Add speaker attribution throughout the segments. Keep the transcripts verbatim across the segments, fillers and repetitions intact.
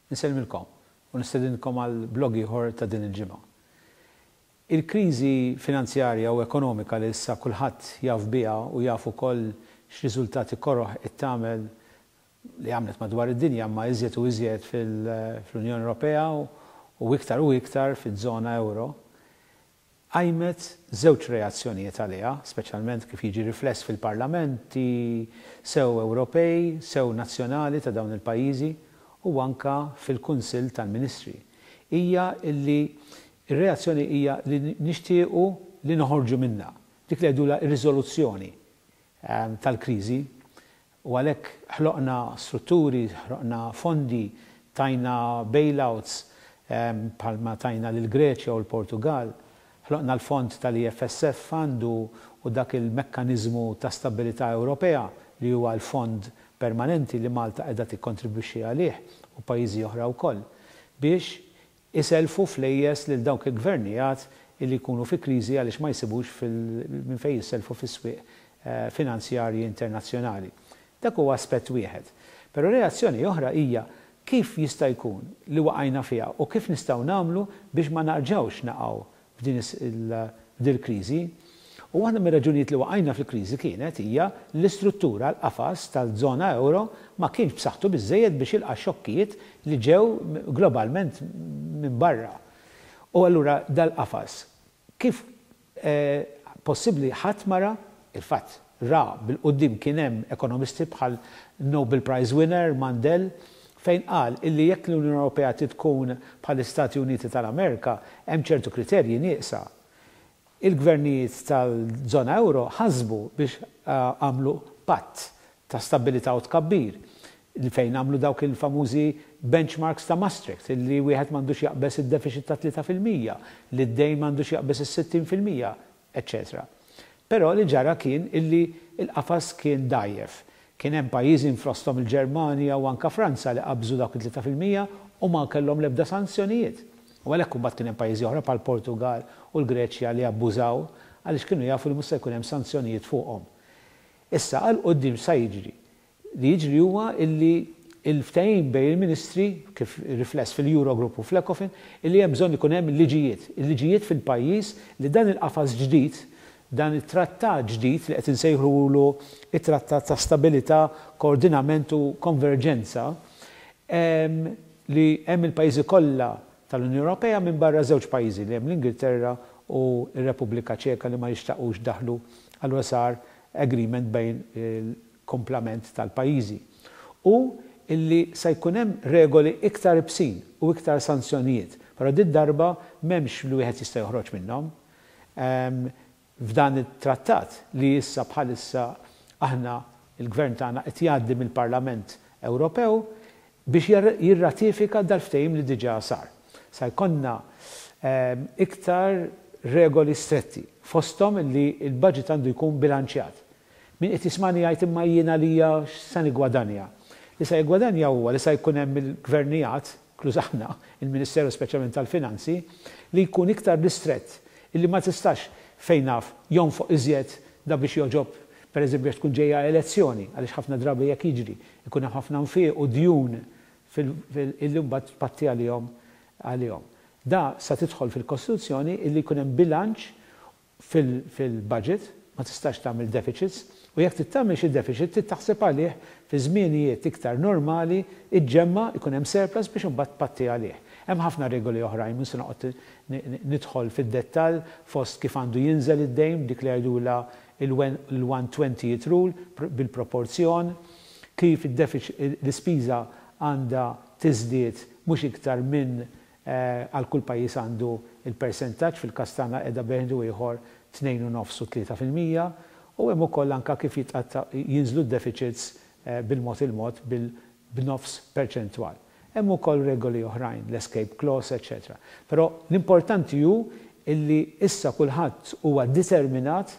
Speaker 1: Insellmilkom u nistedinkom għal blog ieħor ta' din il-ġimgħa. Il-kriżi finanzjarja u ekonomika li issa kulħadd jaf biha u jaf ukoll x'riżultati koroh qed tagħmel, li għamlet madwar id-dinja, ma iżjed u iżjed fil-Unjoni Ewropea u iktar u iktar fiż-żona euro, qajmet żewġ reazzjonijiet għaliha, speċjalment kif jiġi rifless fil-parlamenti sew Ewropej, sew nazzjonali ta' dawn il-pajjiżi u anka fil-Kunsill tal-Ministri. Hija illi ir-reazzjoni hija li nixtiequ li noħorġu minna. Dik li jgħidulha ir-riżoluzzjoni ehm, tal-kriżi, u għalhekk ħloqna strutturi, ħloqna fondi, tajna bailouts ehm, bħalma tajna lil Greċja u l-Portugal, ħloqna l-fond tal-E F S F Fund u dak il-mekkanizmu ta' stabilità Ewropea li huwa l-fond permanenti li Malta qiegħda tikkontribwixxi għalih u pajjiżi oħra wkoll biex iselfu flejjes lil dawk il-gvernijiet li jkunu fi kriżi għaliex ma jsibux minn fejn jisselfu fis-swieq eh, finanzjarji internazzjonali. Dak huwa aspett wieħed. Però reazzjoni oħra hija kif jista' jkun li waqajna fiha u kif nistgħu nagħmlu biex ma narġgħux naqgħu f'din il-kriżi. U waħda mir-raġunijiet li waqajna fil-kriżi kienet hija l-istruttura, l-qafas tal-żona euro ma kienx b'saħħtu biżejjed biex jilqa' xokkijiet li ġew globalment minn barra. U allura dal-qafas kif eh, possibbli ħadd mara il-fatt ra bil-quddiem? Kien hemm ekonomisti bħal Nobel Prize winner Mundell, fejn qal illi jekk l-Unjoni Ewropea tkun bħal-Istati Uniti tal-Amerika, hemm ċertu kriterji nieqsa. Il-gvernijiet tal-żona euro ħasbu biex eh, għamlu patt ta' stabilità u tkabbir li fejn għamlu dawk il-famużi benchmarks ta' Maastricht, illi wieħed m'għandux jaqbeż id-deficit ta' tlieta fil-mija, li d-dejn m'għandux jaqbeż is-sittin fil-mija, eċċetera. Però li ġara kien illi il-qafas kien dajjef. Kien hemm pajjiżi, fosthom il-Ġermanja u anka Franza, li qabżu dawk il-tlieta fil-mija u ma kellhom l-ebda sanzjonijiet. U għalhekk imbagħad kien hemm pajjiżi oħra bħal Portugal u l-Greċja li abbużaw għaliex kienu jafu li mhux se jkun hemm sanzjonijiet fuqhom. Issa għal quddiem sa jiġri? Li jiġri huwa illi il-ftehim bejn il-ministri, kif rifless fil-Eurogroup u fl-Ecofin, illi hemm bżonn ikun hemm liġijiet. Il-liġijiet fil-pajjiż li dan il-qafas ġdid, dan it-trattat ġdid li qed insejħulu it-trattat ta' stabilità, koordinament u konverġenza, li hemm il-pajjiżi kollha tal-Unjoni Ewropea minn barra żewġ pajjiżi, li hemm l-Ingilterra u r-Repubblika Ċeka, li ma jixtaqux daħlu, allura sar agreement bejn il-komplament tal-pajjiżi. U illi se jkun hemm regoli iktar ibsin u iktar sanzjonijiet. Però din darba m'hemmx li wieħed jista' joħroġ minnhom. F'dan it-trattat li issa bħalissa aħna il-gvern tagħna qed jgħaddi mill-Parlament Ewropew biex jirratifika dal-ftehim li diġà sar. Sa jkollna iktar regoli stretti, fosthom li il-budget għandu jkun bilanċjat. Min qed jismani jgħid, "Imma jiena lija x'sa nigwadanja?" Li sa jgwadanja huwa li sa jkun hemm il-gvernijiet, inkluż aħna, il-Ministeru speċjalment tal-Finanzi, li jkun iktar distrett, illi ma tistax, fejn naf, jonfoq iżjed da biex joġob, per eżempju, tkun ġejja elezzjoni, għaliex ħafna drabi jekk jiġri, ikun hemm ħafna nfiq u djun illi mbagħad patti għalihom għalihom. Da sa tidħol fil-Kostituzzjoni illi jkun hemm bilanċ fil-budget, ma tistax tagħmel deficits, u jekk tagħmel xi deficit trid taħseb għalih fi żmienijiet iktar normali, iġġemma, ikun hemm surplus biex imbagħad patti għalih. Hemm ħafna regoli oħrajn, mhux se noqgħod nidħol fid-dettall, fost kif għandu jinżel id-dejn, dik li jgħidulha il-one twentieth rule bil-proporzjon, kif l-ispiża għandha tiżdied mhux iktar minn eh, għal kull pajjiż għandu il-percentaġġ, fil-każ tagħna qiegħda bejn ieħor tnejn u nofs u tlieta fil-mija, u hemm ukoll anka kif jinżlu d-deficits eh, bil-mod il-mod bil-nofs perċentwal. Hemm ukoll regoli oħrajn, l-escape clause, eċċetera. Però l-importanti hu illi issa kulħadd huwa determinat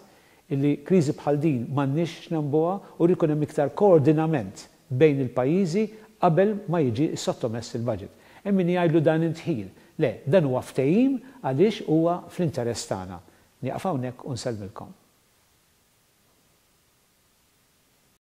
Speaker 1: illi kriżi bħal din m'għandniex nagħmluha u jkun hemm iktar koordinament bejn il-pajjiżi qabel ma jiġi sottomess il-budget. Hemm min jgħidlu dan indħil. Le, dan huwa ftehim għaliex huwa fl-interess tagħna. Nieqaf hawnhekk u nsellmilkom.